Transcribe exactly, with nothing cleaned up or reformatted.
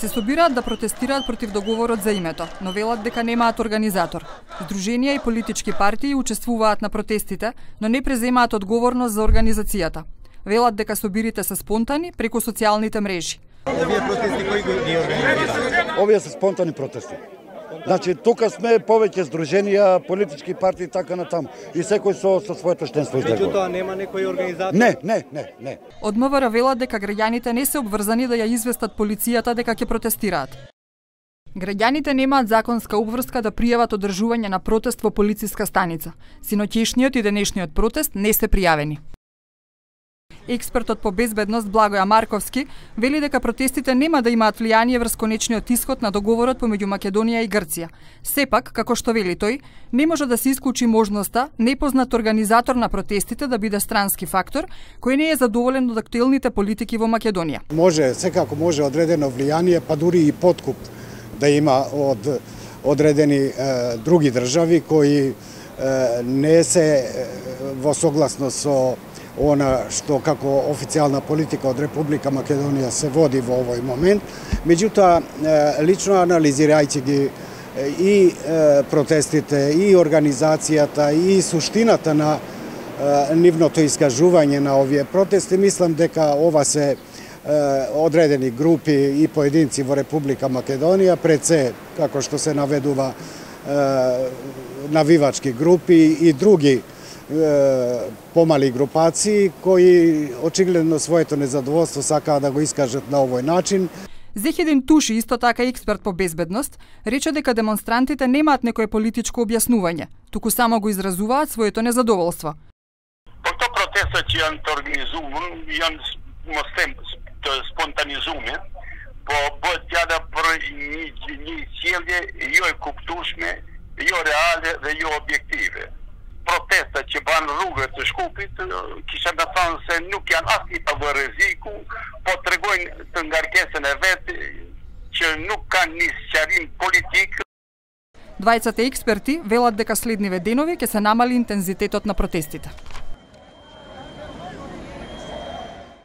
Се собираат да протестираат против договорот за името, но велат дека немаат организатор. Здруженија и политички партии учествуваат на протестите, но не преземаат одговорност за организацијата. Велат дека собирите се спонтани преку социјалните мрежи. Овие протести кои ги организираат? Овие се спонтани протести. Значи, тука сме повеќе здруженија, политички партии, така натаму. И секој со, со своето членство излегува. Меѓутоа нема некој организатор? Не, не, не, не. Од МВР велат дека граѓаните не се обврзани да ја известат полицијата дека ќе протестираат. Граѓаните немаат законска обврска да пријават одржување на протест во полициска станица. Синоќешниот и денешниот протест не се пријавени. Експертот по безбедност Благоја Марковски вели дека протестите нема да имаат влијание врз конечниот исход на договорот помеѓу Македонија и Грција. Сепак, како што вели тој, не може да се исклучи можноста непознат организатор на протестите да биде странски фактор кој не е задоволен од актуелните политики во Македонија. Може, секако може одредено влијание, па дури и подкуп да има од одредени е, други држави кои е, не се е, во согласност со она што како официјална политика од Република Македонија се води во овој момент. Меѓутоа, лично анализирајќи ги и протестите, и организацијата, и суштината на нивното искажување на овие протести, мислам дека ова се одредени групи и поединци во Република Македонија, пред се, како што се наведува, навивачки групи и други помали групации кои очигледно своето незадоволство сакаат да го искажат на овој начин. Зехедин Туши, исто така експерт по безбедност, рече дека демонстрантите немаат некое политичко објаснување, туку само го изразуваат своето незадоволство. Këto protesta që janë të organizuar janë mos them të spontanizime, po bëhet fjala për një një sjellje jo e kuptueshme, jo reale dhe jo objektive. Protesta që banë rrugët të Shkupit, kisha me thënë se nuk janë as i pavë rreziku, po tregojnë të ngarkesën e vetë që nuk kanë një sqarim politik. Двајцата експерти велат дека следниве денови ќе се намали интензитетот на протестите.